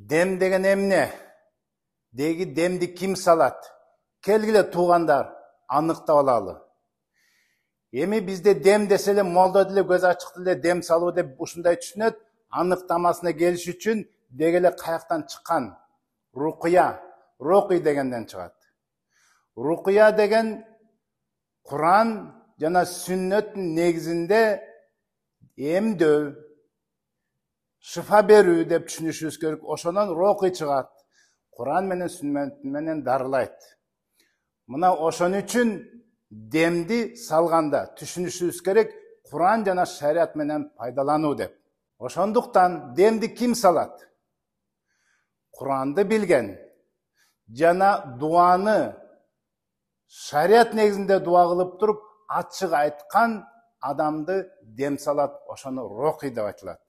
Дем деген эмне? Деги демди ким салат? Келгиле туугандар, аныктап алалы. Эми бизде дем десе эле молдо деле көз ачык деле дем салуу деп ушундай түшүнөт. Аныктамасына келиш үчүн деги эле каяктан чыккан? Рукуя, рукуй дегенден чыгат. Рукуя деген Куран жана сүннөттүн негизинде эмдөө, шифа берүү деп түшүнүшүбүз керек. Ошонон рукуй чыгат. Куран менен сүннөт менен дарылайт. Мына ошон үчүн демди салганда түшүнүшүбүз керек Куран жана шарият менен пайдалануу деп. Ошондуктан демди ким салат? Куранды билген жана дуаны шарият негизинде дуа кылып туруп ачык айткан адамды дем салат. Ошону рукуй деп айтылат.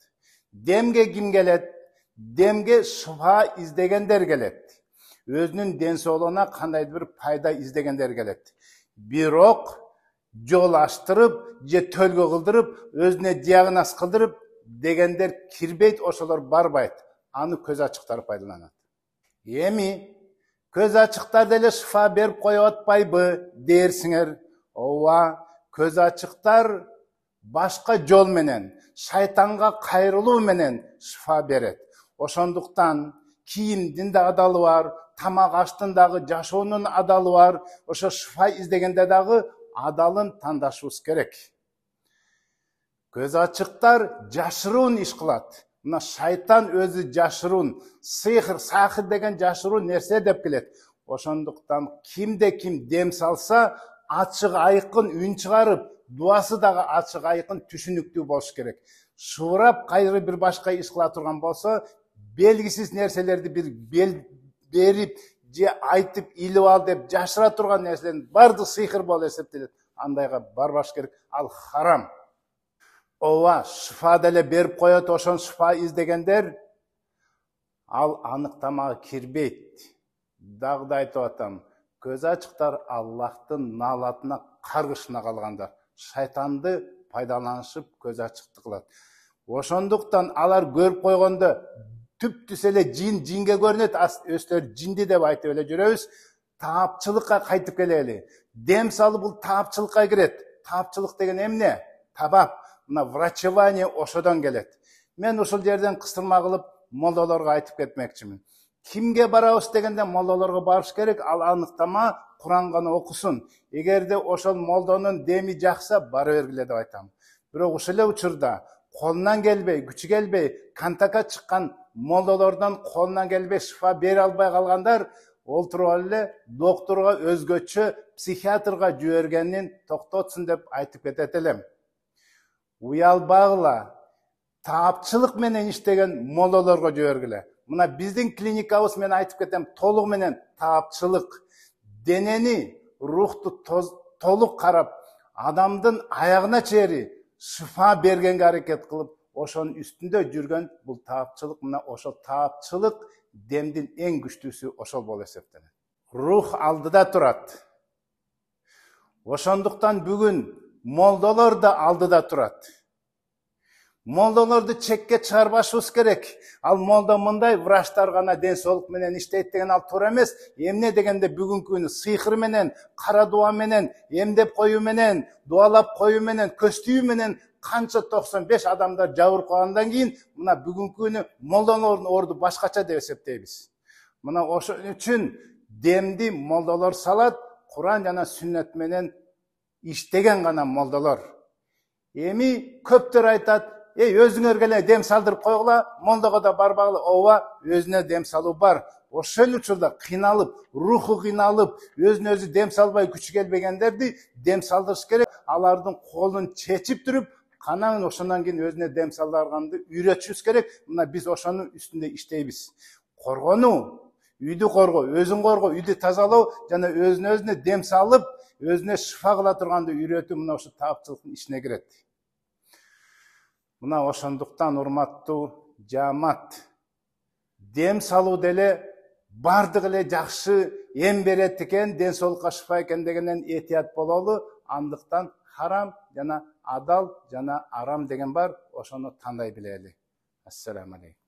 Демге ким келет? Демге шифа издегендер келет. Өзүнүн ден соолугуна кандайдыр бир пайда издегендер келет. Бирок жол аштырып же төлгө кылдырып, өзүнө диагноз кылдырып дегендер кирбейт, ошолор барбайт. Аны көз ачыктар пайдаланат. Эми көз ачыктар деле шифа берип коюп атпайбы дээрсиңер? Ооба, көз ачыктар башка жол менен, шайтанга кайрылуу менен шифа берет. Ошондуктан кийимдин да адалы бар, тамак аштын дагы жашоонун адалы бар. Ошо шифа издегенде дагы адалын тандашыбыз керек. Көз ачыктар жашыруун иш кылат. Мына шайтан өзү жашыруун, сахыр деген жашыруун нерсе деп келет. Ошондуктан кимде ким дем салса, ачык айкын үн чыгарып, дуасы дагы ачык айкын түшүнүктүү болуш керек. Шуурап кайры бир башка иш кыла турган болсо, белгисиз нерселерди бир берип же айтып илип ал деп жашыра турган нерселердин баардыгы сыйкыр болуп эсептелет. Андайга барбаш керек. Ал харам. Ооба, шифа деле берип коет. Ошон шифа издегендер ал аныктамага кирбейт. Дагы да айтып атам, көз ачыктар Аллахтын наалатына каргышына калгандар. Шайтанды пайдаланышып көз ачыкты кылат. Ошондуктан алар көрүп койгондо түп-түз эле жинге көрүнөт. Өстөр жинди деп айтып эле жүрөбүз. Таапчылыкка кайтып келели. Дем салуу бул таапчылыкка кирет. Таапчылык деген эмне? Табап. Мына врачевание ошодон келет. Мен ушул жерден кыстырма кылып молдолорго айтып кетмекчимин. Кимге барабыз дегенде молдолорго барыш керек. Ал аныктама Куран гана окусун. Эгерде ошол молдонун деми жакса, бара бергиле деп айтам. Бирок ушул эле учурда колунан келбей, күчү келбей, контактка чыккан молдолордон колунан келбей шифа бере албай калгандар олтуруп эле докторго өзгөчө психиатрга жибергенин токтотсун деп айтып кетет элем. Уялбагыла, таапчылык менен иштеген молдолорго жибергиле. Мына биздин клиникабыз мен айтып кетем, толук менен таапчылык. Денени, рухту толук карап, адамдын аягына чейин шифа бергенге аракет кылып, ошонун үстүндө жүргөн бул таапчылык. Мына ошол таапчылык демдин эң күчтүүсү ошол болуп эсептелет. Рух алдыда турат. Ошондуктан бүгүн молдолор да алдыда турат. Молдолорду чекке чыгарбашыбыз керек. Ал молдо мындай, врачтар гана ден соолук менен иштейт деген ал туура эмес. Эмне дегенде бүгүнкү күнү сыйкыр менен, кара дуа менен, эмдеп коюу менен, дуалап коюу менен, көстүү менен канча 95 адамдар жабырып калгандан кийин, мына бүгүнкү күнү молдолордун орду башкача деп эсептейбиз. Мына ошон үчүн демди молдолор салат, Куран жана сүннөт менен иштеген гана молдолор. Эми көптөр айтат, өзүңөр келе дем салдырып койгула, молдого да барбагыла. Ооба, өзүнө дем салуу бар. Ошол учурда кыйналып, руху кыйналып, өзүнө өзү дем салбай күчү келбегендерди дем салдырыш керек. Алардын колун чечип туруп, канаңын ошондон кийин өзүнө дем салдырганды үйрөтүшүбүз керек. Мына биз ошонун үстүндө иштейбиз. Коргонуу, үйдү коргоо, өзүн коргоо, үйдү тазалоо жана өзүнө дем салып, өзүнө шифа кыла турганды үйрөтүү мына ошо таапчылыктын ичине кирет. Мына ошондуктан урматтуу жаамат, дем салуу деле бардык эле жакшы эм берет экен, ден соолукка шифа экен дегенден этият бололу. Андыктан харам жана адал жана арам деген бар. Ошону тандай билели. Ассаламу алейкум.